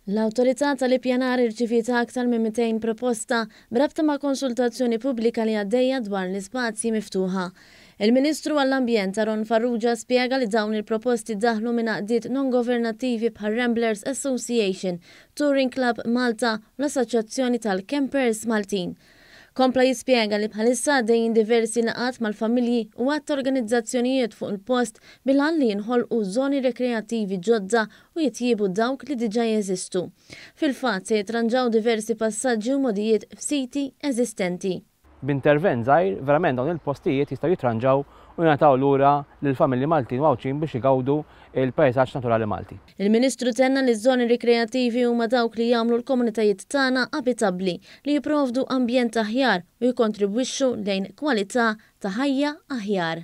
L-Awtorità tal-Ippjanar irċiviet aktar minn 200 proposta b'rabta ma' konsultazzjoni pubblika li għaddejja dwar l-ispazji miftuħa. Il-Ministru għall-Ambjent Aaron Farrugia spjega li dawn il-proposti daħlu minn għaqdiet non-governattivi bħal Ramblers Association, Touring Club Malta u l-Assoċjazzjoni tal-Campers Maltin. Kompla jispjega li bħalissa għaddejjin diversi laqgħat mal-familji u għadd ta' organizzazzjonijiet fuq il-post bil-għan li jinħolqu żoni rekreattivi ġodda u jitjiebu dawk li diġà jeżistu. Fil-fatt, se jitranġaw diversi passaġġi u mogħdijiet f'siti eżistenti. B'intervent żgħir, verament dawn il-postijiet jistgħu jitranġaw u jingħataw lura lill-familji Maltin u Għawdxin biex igawdu l-pajsaġġ naturali Malti. Il-Ministru tenna li ż-żoni rikreattivi huma dawk li jagħmlu l-komunitajiet tagħna abitabbli, li jipprovdu ambjent aħjar u jikkontribwixxu lejn kwalità ta' ħajja aħjar.